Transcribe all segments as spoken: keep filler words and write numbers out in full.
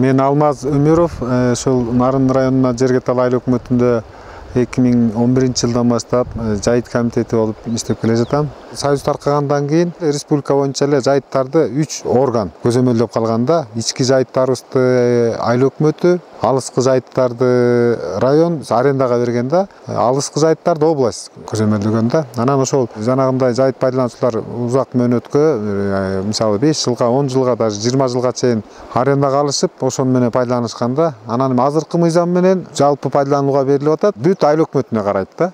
Мен Алмаз Өмүров, ошол Нарын районуна Жергетал айыл өкмөтүндө эки миң он биринчи жылдан баштап жайыт комитети болуп иштеп келе жатам. Союз таркагандан кийин республика боюнча эле жайыттарды үч орган көзөмөлдөп калганда, ички жайыттарыбызды айыл өкмөтү, алыскы жайыттарды район арендага берген да, алыскы жайыттарды область көзөмөлдөгөн да. Анан ошол жанагындай жайыт пайдалануучулар узак мөөнөткө, мисалы беш жылга, он жылга, даже жыйырма жылга чейин арендага алышып, ошону менен пайдаланышканда, анан азыркы мыйзам менен жалпы пайдаланууга берилип атат. Бүт айыл өкмөтүнө карайт да.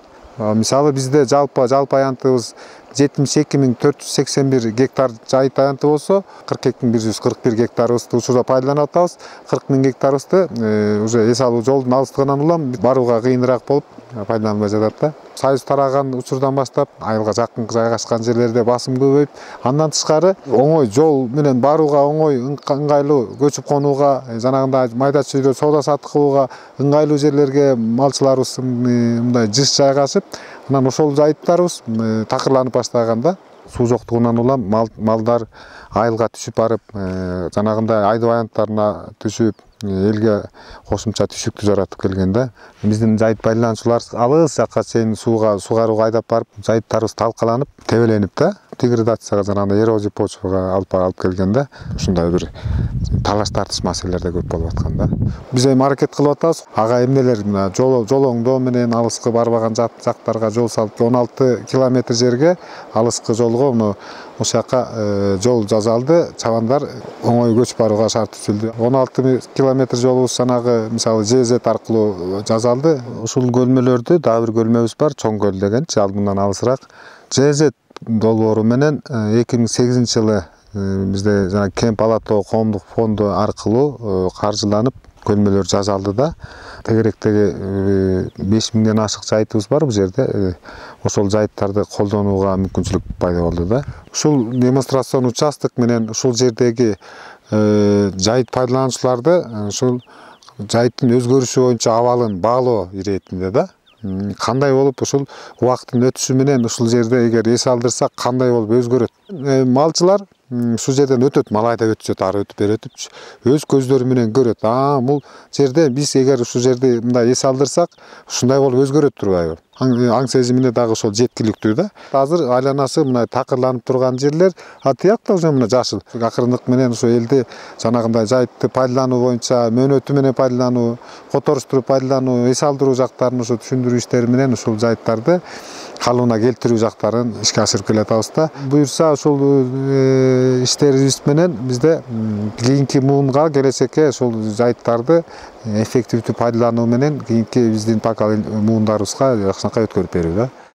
Мисалы бизде жалпы жалпы аянтыбыз жетимиш эки миң төрт жүз сексен бир гектар жайыт аянты болсо, кырк эки миң бир жүз кырк бир гектарыбызды учурда пайдаланып атабыз. кырк миң гектарыбызды уже эс алуу жолдун алыстыгынан улам барууга кыйыныраак болуп пайдаланбай жатат да. Союз тараган учурдан баштап айылга жакын жайгашкан жерлерде басым көбөйүп, андан тышкары оңой жол менен барууга оңой, ыңгайлуу, көчүп конууга, жанагындай майда чүйдө соода саттык кылууга ыңгайлуу жерлерге малчыларыбыз мындай жыш жайгашып, анан ошол жайыттарыбыз такырланып баштаганда, суу жоктугунан улам малдар айылга түшүп барып, жанагындай айдоо аянттарына түшүп, элге кошумча түшүктү жаратып келген да. Биздин жайыт пайдалануучулар алыс жакка чейин сууга сугарууга айдап барып, жайыттарыбыз талкаланып, тебеленип да, деградацияга, жанагындай эрозия почвага алып алып келген да. Ушундай бир талаш тартыш маселелер да көп болуп аткан да. Биз эми аракет кылып атабыз. Ага эмнелер мына жол жолоңдоо менен алыскы барбаган жактарга жол салып, он алты километр жерге алыскы жолго муну ошол жака жол жасалды. Чабандар оңой көчүп барууга шарт түзүлдү. он алты километр жолубуз жанагы мисалы ЖЭЗ аркылуу жасалды. Ушул көлмөлөрдү дагы бир көлмөбүз бар, Чоң көл деген, ал мындан алысыраак. ЖЭЗ долбоору менен эки миң сегизинчи жылы бизде жана Кемп Алатоо коомдук фонду аркылуу каржыланып көлмөлөр жасалды да. Тегеректеги беш миңден ашык жайытыбыз бар бул жерде. Ошол жайыттарды колдонууга мүмкүнчүлүк пайда болду да. Ушул демонстрацион участок менен ушул жердеги жайыт пайдалануучуларды ушул жайыттын өзгөрүшү боюнча абалын баалоо иретинде да. Кандай болуп ушул убакыттын өтүшү менен ушул жерде эгер эс алдырсак кандай болуп өзгөрөт. Малчылар ушул жерден өтөт, мал айдап өтүшөт, ары өтүп бери өтүп, өз көздөрү менен көрөт. А, бул жерде биз эгер ушул жерде мындай эс алдырсак, ушундай болуп өзгөрөт турбайбы? Аң сезимине дагы ошол жеткиликтүү да. Азыр айланасы мындай такырланып турган жерлер, а тиякта уже мына жашыл. Акырындык менен ошо элди жанагындай жайытты пайдалануу боюнча мөөнөтү менен пайдалануу, которуштуруп пайдалануу, эс алдыруу жактарын ошо түшүндүрүү иштери менен ушул жайыттарды калыбына келтирүү жактарын ишке ашырып келатабыз да. Буюрса ошол иштерибиз менен бизде кийинки муунга, келечекке ошол жайыттарды эффективдүү пайдалануу менен кийинки биздин пока муундарыбызга жакшынакай өткөрүп берүү да.